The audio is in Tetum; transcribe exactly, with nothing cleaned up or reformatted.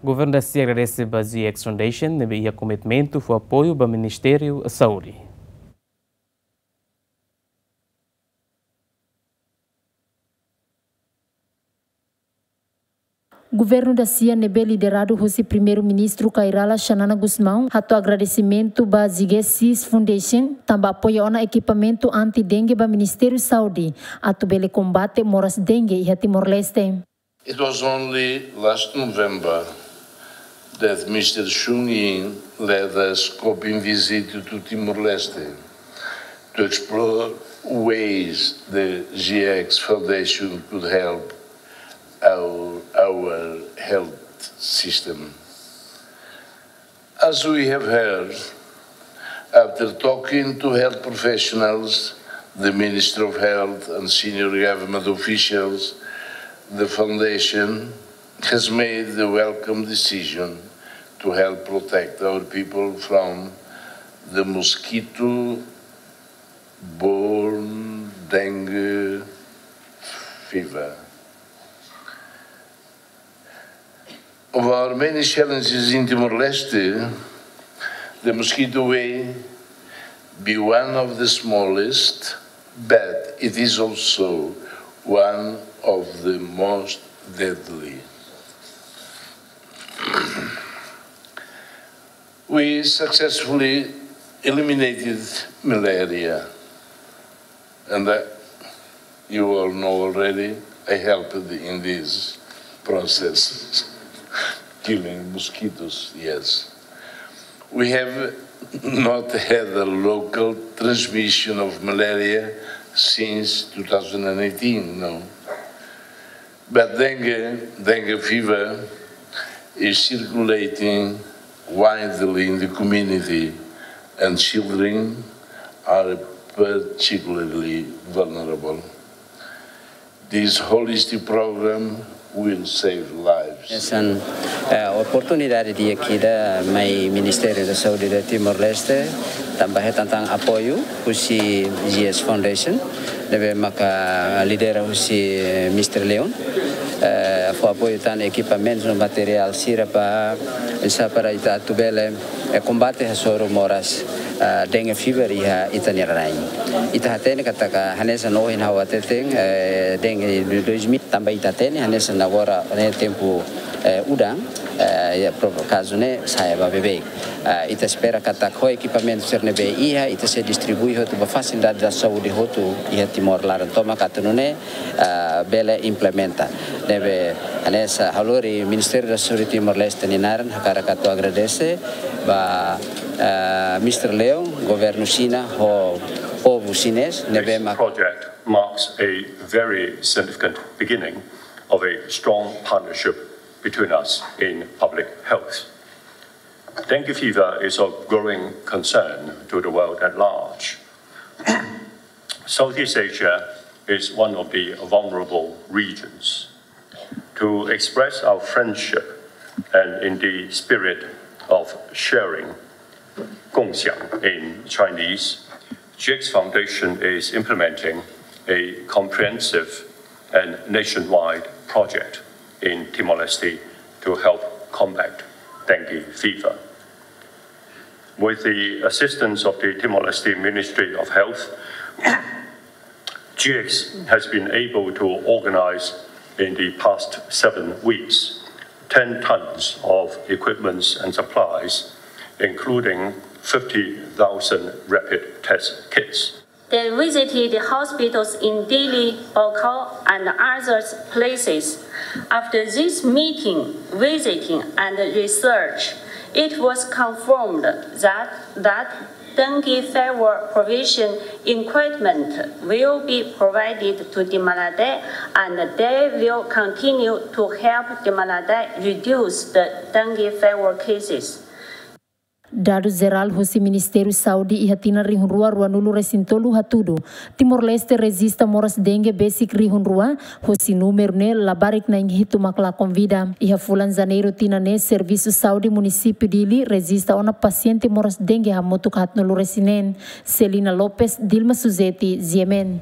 Governu da-sia agradese ba G X Foundation ne'ebé iha komitmentu fó apoiu ba Ministériu Saúde. Governu da-sia ne'ebé lideradu husi Primeiru-Ministru Kay Rala Xanana Gusmão hato'o agradesimentu ba G X Foundation tanba apoia ona ekipamentu anti-dengue ba Ministériu Saúde atu bele kombate moras dengue iha Timor-Leste. It was only last November that Mister Chung Ying led a scoping visit to Timor-Leste to explore ways the G X Foundation could help our, our health system. As we have heard, after talking to health professionals, the Minister of Health and senior government officials, the foundation has made the welcome decision to help protect our people from the mosquito-borne dengue fever. Of our many challenges in Timor-Leste, the mosquito may be one of the smallest, but it is also one of the most deadly. We successfully eliminated malaria, and that you all know already, I helped in this process, killing mosquitoes, yes. We have not had a local transmission of malaria since two thousand eighteen, no. But dengue, dengue fever is circulating widely in the community, and children are particularly vulnerable. This holistic program will save lives. Hanesan, eh, oportunidade di'ak ida mai Ministériu da Saúde da Timor-Leste, tanba hetan tan apoiu husi G X Foundation, ne'ebé maka lidera husi Mister Leon, eh, fó apoiu tan ekipamentu no materiál sira ba, hanesan para ita atu bele, eh, kombate hasoru moras, eh, dengue fever iha ita-nia rain. Ita hatene katak hanesan ohin ha'u hateten, eh, dengue dois mil tanba ita hatene, hanesan agora ne'e tempu, eh, udan, eh, iha pro-, kazu ne'e sa'e ba beibeik. Eh, ita espera katak ho ekipamentu sira ne'ebé iha, ita sei distribui hotu ba fasilidade da saúde hotu iha Timor laran tomak atu nune'e, eh, bele implementa. Ne'ebé hanesan ha'u lori Ministériu da Saúde Timor-Leste nia naran hakarak atu agradese ba, eh, Mister Leon, governu Xina ho povu xinés, ne'ebé mak- This project marks a very significant beginning of a strong partnership between us in public health. Dengue fever is of growing concern to the world at large. Southeast Asia is one of the vulnerable regions. To express our friendship and in the spirit of sharing, 共享 in Chinese, G X Foundation is implementing a comprehensive and nationwide project in Timor-Leste to help combat dengue fever. With the assistance of the Timor-Leste Ministry of Health, G X has been able to organize in the past seven weeks ten tons of equipments and supplies, including fifty thousand rapid test kits. They visited hospitals in Dili, Baucau, and other places. After this meeting, visiting, and research, it was confirmed that, that dengue fever prevention equipment will be provided to Dimalaté, and they will continue to help Dimalaté reduce the dengue fever cases. Dadus jerál husi Ministériu Saúde iha tinan rihun rua ruanulu resin tolu hatudu, Timor-Leste rejista moras dengue besik rihun rua, husi númeru ne'e labarik na'in hitu mak lakon vida. Iha fulan Janeiru tinan ne'e, Servisu Saúde Munisípiu Dili rejista ona pasiente moras dengue hamutuk haatnulu resin neen. Celina Lopes, Dilma Suzeti, G M N.